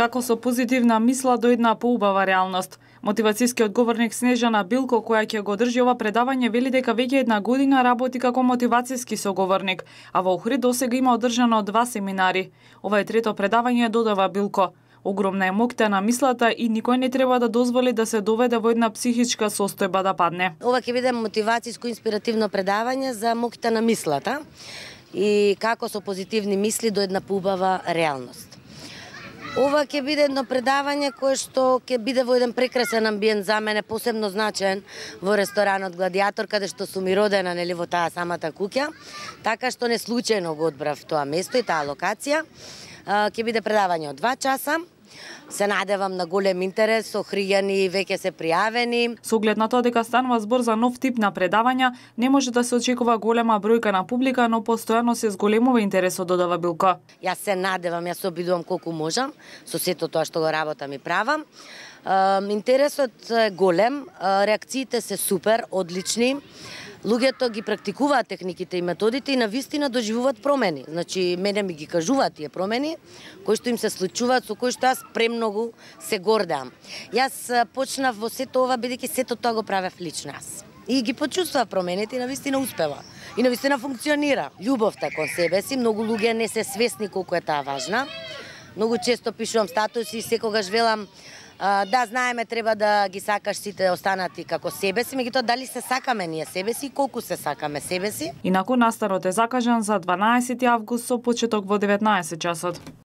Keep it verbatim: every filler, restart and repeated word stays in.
Како со позитивна мисла дојдна поубава реалност. Мотивацијскиот говорник Снежана Билко, која ќе го држи ова предавање, вели дека веќе една година работи како мотивацијски соговорник, а во Охрид досега има одржано два семинари. Ова е трето предавање, додава Билко. Огромна е моќта на мислата и никој не треба да дозволи да се доведе во една психичка состојба да падне. Ова ќе биде мотивацијско инспиративно предавање за моќта на мислата и како со позитивни мисли до една поубава реалност. Ова ќе биде едно предавање кое што ќе биде во еден прекрасен амбиент, за мене посебно значаен во ресторанот Гладиатор, каде што сум и родена, нели, во таа самата куќа, така што не случајно го одбрав тоа место и таа локација. Ќе биде предавање од два часа. Се надевам на голем интерес, охријани веќе се пријавени. Со оглед на тоа дека станува збор за нов тип на предавања, не може да се очекува голема бројка на публика, но постојано се зголемува интересот, додава Билко. Јас се надевам, јас се обидувам колку можам со сето тоа што го работам и правам. Интересот е голем, реакциите се супер, одлични. Луѓето ги практикуваат техниките и методите и навистина доживуваат промени. Значи, мене ми ги кажуваат тие промени, кои што им се случуваат, со кои што јас премногу се гордеам. Јас почнав во сето ова, бидејќи сето тоа го правев лично јас. И ги почувствував промените и навистина успева. И навистина функционира. Љубовта кон себе си, многу луѓе не се свесни колку е таа важна. Многу често пишувам статуси и секогаш велам, да, знаеме, треба да ги сакаш сите останати како себе си, меѓутоа дали се сакаме ние себе си и колку се сакаме себе си. Инаку настанот е закажан за дванаесети август со почеток во деветнаесет часот.